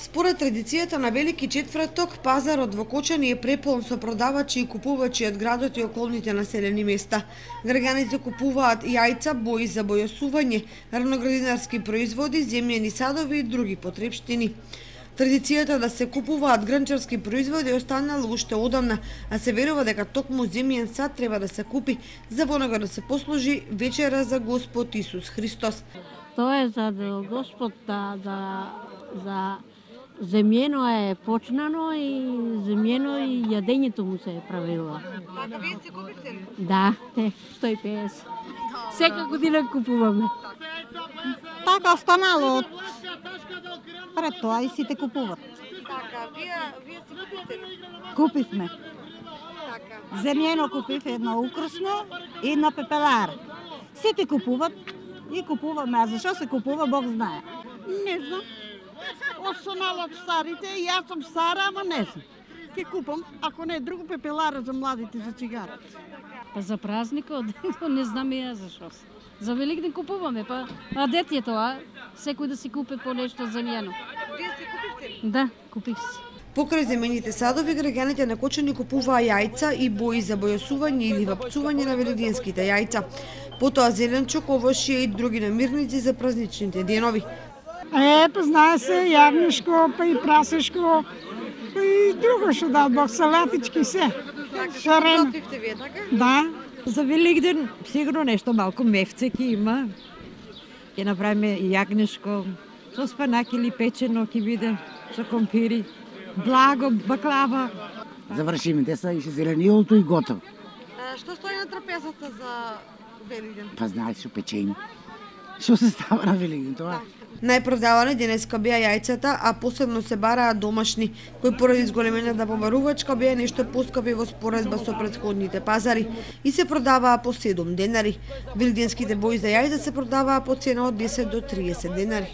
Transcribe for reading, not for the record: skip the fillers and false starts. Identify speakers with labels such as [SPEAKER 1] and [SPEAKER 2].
[SPEAKER 1] Според традицијата на Велики четврток, пазарот во Кочани е преполн со продавачи и купувачи од градот и околните населени места. Граѓаните купуваат јајца, бои за бојосување, раноградинарски производи, земјени садови и други потрепштини. Традицијата да се купуваат грнчарски производи останала уште одамна, а се верува дека токму земјен сад треба да се купи за во него да се послужи вечера за Господ Исус Христос.
[SPEAKER 2] Тоа е за Господ за земјено е почнано и земјено и јадењето му се правило.
[SPEAKER 1] Така вие се купите ли?
[SPEAKER 2] Да, 150. Сека година купуваме.
[SPEAKER 3] Така останало пред тоа и сите купуват.
[SPEAKER 1] Така, вие се купите ли?
[SPEAKER 3] Купивме.
[SPEAKER 1] Така.
[SPEAKER 3] Земјено купив едно украсно и на пепелар. Сите купуват и купуваме, а зашо се купува Бог знае.
[SPEAKER 4] Не знам. Останало од старите, јас сум стара, ама не знам. Ке купам, ако не друго, пепелара за младите за цигарите.
[SPEAKER 5] Па за празникот, не знам и јас зашо. За Великден купуваме, па а дет е тоа, секој да си купи по нешто земјено.
[SPEAKER 1] Вие се купите ли?
[SPEAKER 5] Да, купих се.
[SPEAKER 1] Покрај земените садови, граѓаните на Кочани купуваа јајца и бои за бојосување или вапцување на велигденските јајца. Потоа зеленчук, овошје и други намирници за празничните денови.
[SPEAKER 6] Па знае се, јагнешко, па и прасешко, па и друго што дал Бог, салатички се.
[SPEAKER 1] Така, готвивте вие, така?
[SPEAKER 6] Да.
[SPEAKER 7] За Великден сигурно нешто малку мефце ќе има. Ќе направиме јагнешко, со спанак или печено ќе биде, со компири, благо, баклава.
[SPEAKER 8] Завршимите са и зелениолто и готово.
[SPEAKER 1] Што стои на трапезата за Великден?
[SPEAKER 8] Па знаеш што печени. Што се става на Великден тоа?
[SPEAKER 1] Најпродавани денеска беа јајцата, а посебно се бараа домашни, кои поради зголемената побарувачка беа нешто поскапи во споредба со претходните пазари и се продаваа по 7 денари. Великденските бои за јајца се продаваа по цена од 10 до 30 денари.